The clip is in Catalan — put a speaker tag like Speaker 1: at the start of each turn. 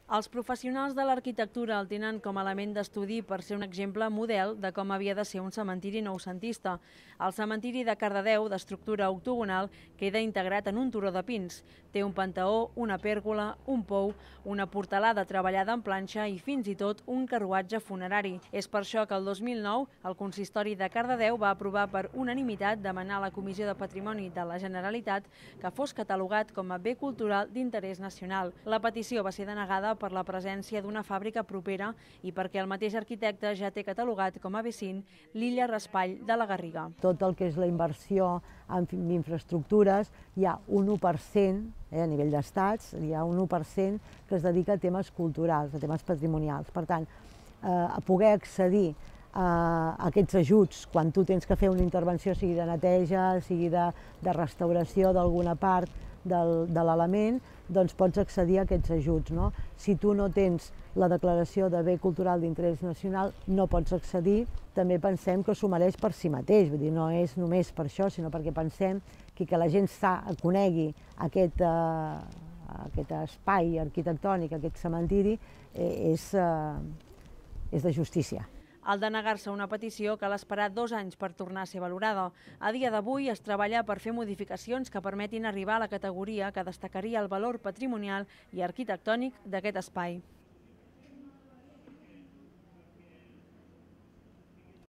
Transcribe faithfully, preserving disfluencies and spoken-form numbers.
Speaker 1: Els professionals de l'arquitectura el tenen com a element d'estudi per ser un exemple model de com havia de ser un cementiri noucentista. El cementiri de Cardedeu, d'estructura octogonal, queda integrat en un turó de pins. Té un panteó, una pèrgola, un pou, una portalada treballada en planxa i fins i tot un carruatge funerari. És per això que el dos mil nou el consistori de Cardedeu va aprovar per unanimitat demanar a la Comissió de Patrimoni de la Generalitat que fos catalogat com a bé cultural d'interès nacional. La petició va ser denegada per la presència d'una fàbrica propera i perquè el mateix arquitecte ja té catalogat com a bé cinc l'illa Raspall de la Garriga.
Speaker 2: Tot el que és la inversió en infraestructures, hi ha un u per cent, eh, a nivell d'estats, hi ha un u per cent que es dedica a temes culturals, a temes patrimonials. Per tant, eh, a poder accedir a aquests ajuts quan tu tens que fer una intervenció, sigui de neteja, sigui de, de restauració d'alguna part del, de l'element, doncs pots accedir a aquests ajuts. No? Si tu no tens la declaració de bé cultural d'interès nacional, no pots accedir. També pensem que s'ho mereix per si mateix, vull dir, no és només per això, sinó perquè pensem que, que la gent sa, conegui aquest, eh, aquest espai arquitectònic, aquest cementiri, eh, és, eh, és de justícia.
Speaker 1: Al denegar-se una petició cal esperar dos anys per tornar a ser valorada. A dia d'avui es treballa per fer modificacions que permetin arribar a la categoria que destacaria el valor patrimonial i arquitectònic d'aquest espai.